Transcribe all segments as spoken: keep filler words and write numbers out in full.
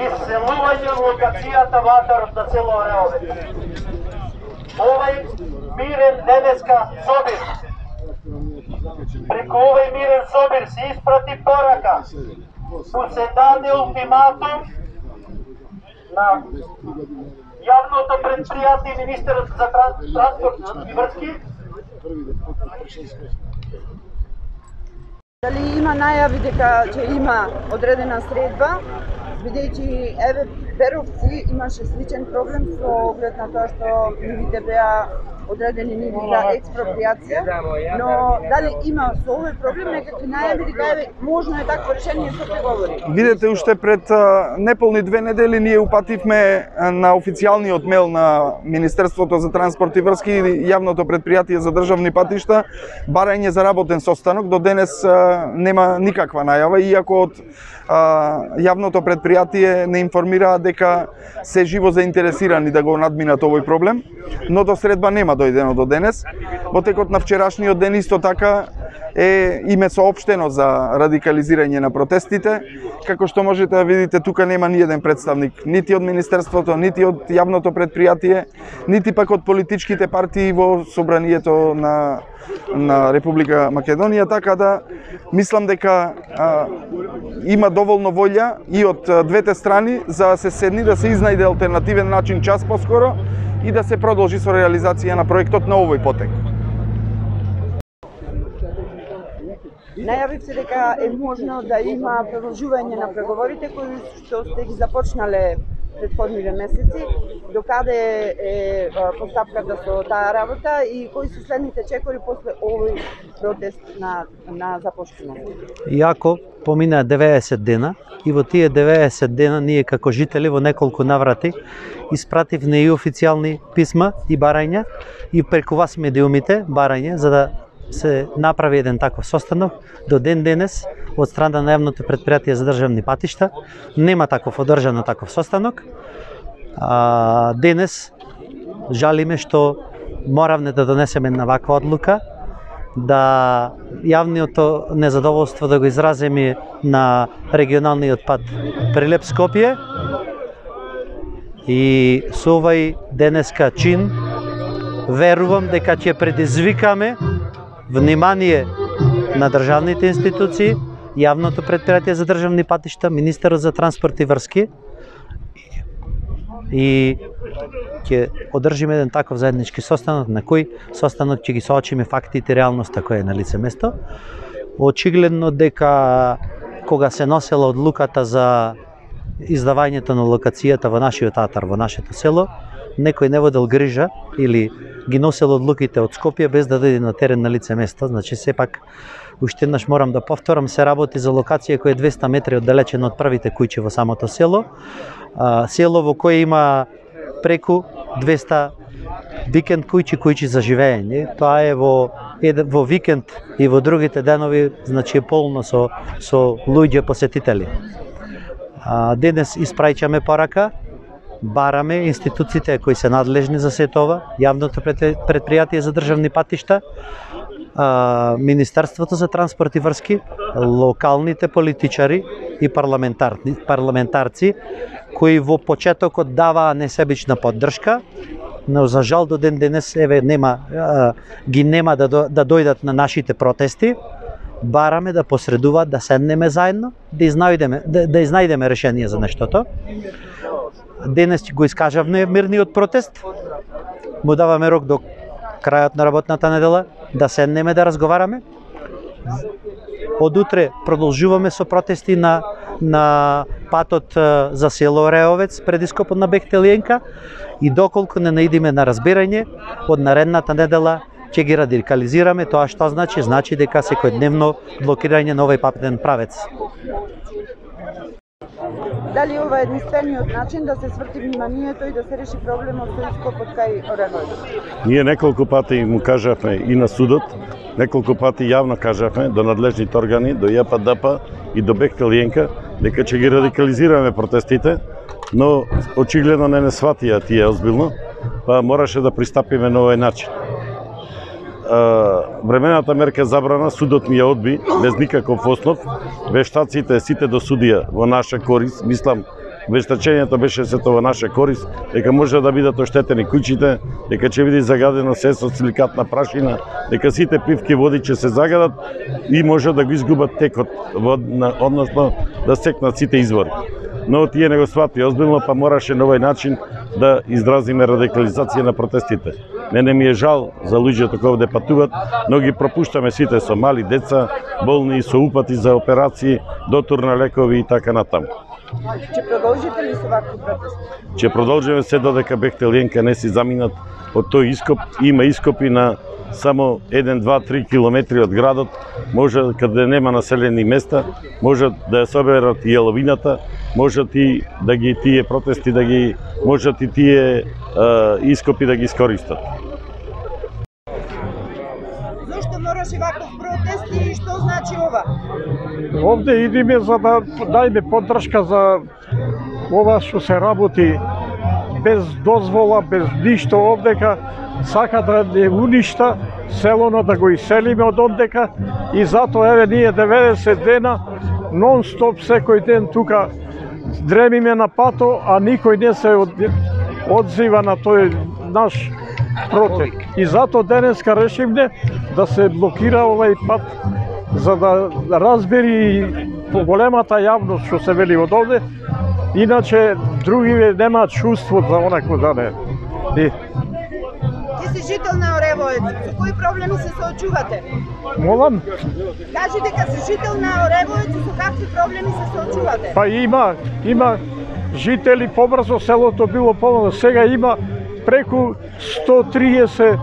Исселување локацијата ватарот на село Ореовец. Овај мирен денеска собир, преку овај мирен собир се испрати порака, му се даде ултиматум на јавното предпријатие и министерот за транспорт и врски. Дали има најави дека ќе има одредена средба, бидејќи еве Беровци имаше сличен проблем со оглед на тоа што нивите беа одредени ниви за експроприација, но дали има со овој проблем некакви најави дека еве можно е такво решение со преговори? Видете, уште пред а, неполни две недели ние упативме на официјалниот мејл на Министерството за транспорт и врски и јавното предпријатие за државни патишта барање за работен состанок. До денес а, нема никаква најава, иако од а, јавното предпријатие не информираат дека се живо заинтересирани да го надминат овој проблем, но до средба нема дојдено до денес. Во текот на вчерашниот ден исто така е име соопштено за радикализирање на протестите. Како што можете да видите, тука нема ни еден представник, нити од Министерството, нити од јавното предпријатие, нити пак од политичките партии во собранието на на Република Македонија, така да мислам дека а, има доволно волја и од двете страни за да се седни, да се изнајде алтернативен начин час поскоро и да се продолжи со реализација на проектот на овој потек. Најавивте дека е можно да има продолжување на преговорите кои што сте ги започнале претходниве месеци, докаде е постапката со таа работа и кои се следните чекори после овој протест на на започнување? Иако помина деветдесет дена и во тие деветдесет дена ние како жители во неколку наврати испративме и официјални писма и барања и преку вас медиумите барање за да се направи еден таков состанок. До ден денес од страна на јавното предпријатие за државни патишта нема таков одржан таков состанок. А, денес жалиме што моравме да донесеме на ваква одлука, да јавното незадоволство да го изразиме на регионалниот пат Прилеп-Скопје и со овај денеска чин верувам дека ќе предизвикаме внимание на државните институции, јавното предпријатие за државни патишта, Министерот за транспорт и врски и ќе одржиме еден таков заеднички состанок на кој состанок ќе ги соочиме фактите и реалноста која е на лице место. Очигледно дека кога се носела одлуката за издавањето на локацијата во нашиот атар, во нашето село, некој не водел грижа или ги носел одлуките од Скопје без да дојде на терен на лице место. Значи сепак уште еднаш морам да повторам, се работи за локација која е двесте метри оддалечена од првите куќи во самото село. А, село во кое има преку двесте викенд куќи, куќи за живење. Тоа е во во викенд и во другите денови, значи е полно со со луѓе посетители. А, денес испраќаме порака, бараме институциите кои се надлежни за сето ова, јавното предпријатие за државни патишта, Министерството за транспорт и врски, локалните политичари и парламентарци кои во почетокот даваа несебична поддршка, но за жал до ден денес еве нема ги нема да да дојдат на нашите протести. Бараме да посредуваат, да седнеме заедно, да изнајдеме да, да изнајдеме решение за нештото. Денес го искажавме мирниот протест. Му даваме рок до крајот на работната недела да седнеме да разговараме. Од утре продолжуваме со протести на на патот за село Ореовец пред ископот на Бехтелиенка и доколку не наидиме на разбирање, од наредната недела ќе ги радикализираме. Тоа што значи? Значи дека секојдневно блокирање на овој патен правец. Дали ова е единствениот начин да се сврти вниманието и да се реши проблемот со ископот кај Ореовец? Ние неколку пати му кажавме и на судот, неколку пати јавно кажавме до надлежните органи, до Ја П Д П и до Бехтелиенка дека ќе ги радикализираме протестите, но очигледно не не сватија тие озбилно, па мораше да пристапиме на овој начин. времената мерка забрана, судот ми ја одби без никаков основ. Вештаците сите до судија во наша корист, мислам, вештачењето беше сето во наша корист, дека може да бидат оштетени куќите, дека ќе биде загадено се со силикатна прашина, дека сите пивки води ќе се загадат и може да го изгубат текот водна, односно да секнат сите извори. Но тие не го свати озбилно, па мораше на овој начин да изразиме радикализација на протестите. Не, не ми е жал за луѓето кои овде патуват, но ги пропуштаме сите со мали деца, болни со упати за операции, дотур на лекови и така натаму. Ќе продолжите ли со вакви протести? Ќе продолжиме се додека Бехтел и ЕНК не си заминат од тој ископ. Има ископи на само еден, два, три километри од градот, може каде нема населени места, може да ја соберат и јаловината, може и да ги тие протести да ги можат и тие е, ископи да ги искористат. Зошто мораше ваков протест и што значи ова? Овде идиме за да дајме поддршка за ова што се работи без дозвола, без ништо овдека, сака да не уништа селото, да го иселиме од овдека и затоа еве ние деветдесет дена нон-стоп секој ден тука дремиме на пато, а никој не се од... одзива на тој наш протест. И затоа денеска решивме да се блокира овај пат за да разбери поголемата јавност што се вели од овде, иначе другиве немаат чувство за онако да не. И... Ти си жител на Оревоец, со кои проблеми се соочувате? Молам? Кажи дека си жител на Оревоец и со какви проблеми се соочувате? Па има, има жители, побрзо селото било полно, сега има преку сто триесет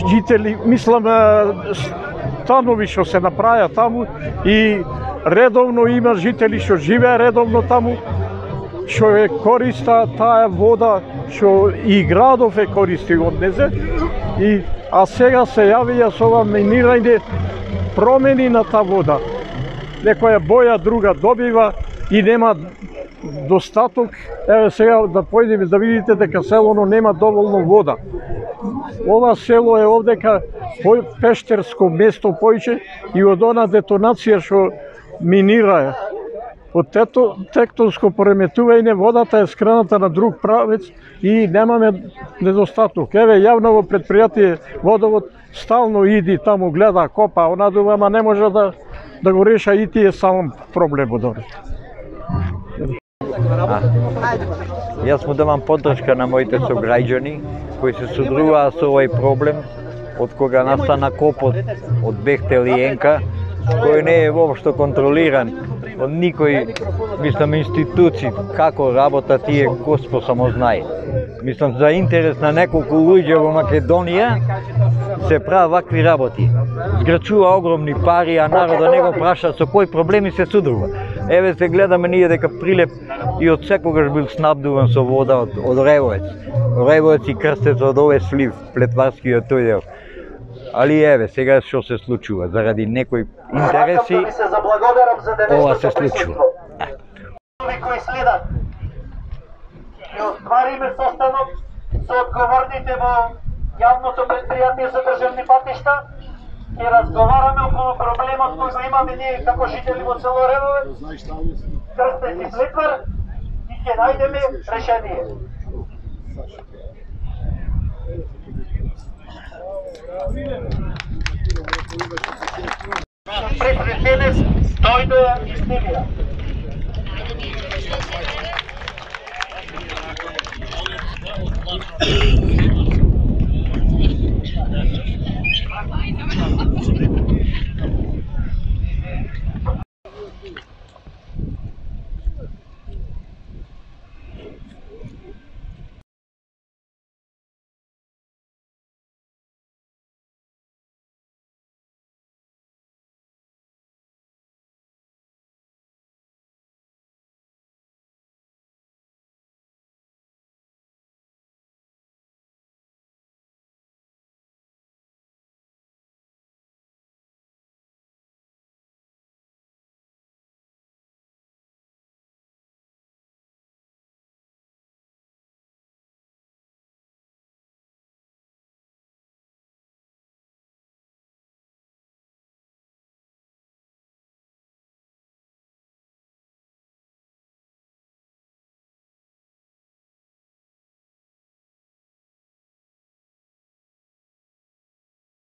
жители, мислам, станови што се направија таму и редовно има жители што живеа редовно таму, што е користа таа вода, што и градов е користи од незе, и, а сега се јавија со ова минирање промени на таа вода. Некоја боја друга добива и нема достаток. Еве сега да појдеме да видите дека селото нема доволно вода. Ова село е овдека пештерско место поише и од она детонација што минира. Од тето тектонско пореметување водата е скрената на друг правец и немаме недостаток. Еве јавно предпријатие Водовод стално иди таму, гледа, копа, онадува, ама не може да да го реша и тие сам проблемот. Јас му давам поддршка на моите сограѓани кои се содружуваат со овој проблем од кога настана копот од Бехтел и ЕНК, кој не е воопшто контролиран од никој, мислам, институции, како работа тие, Господ само знае. Мислам, за интерес на неколку луѓе во Македонија се прават вакви работи. Зграчува огромни пари, а народа не го праша со кои проблеми се судрува. Еве се гледаме ние дека Прилеп и од секогаш бил снабдуван со вода од, од Оревоец. Оревоец и Крстец од овој слив, плетварскиот тој дел. Али еве, сега што се случува, заради некои интереси, ова се случува. Кои следат. Ќе оствариме состанок со одговорните во јавното предпријатие за државни патишта, ќе разговараме околу проблемот кој го имаме ние како жители во село Оревоец, Крстец и Плетвар, и ќе најдеме решение. Пред денес дојде из Сибија.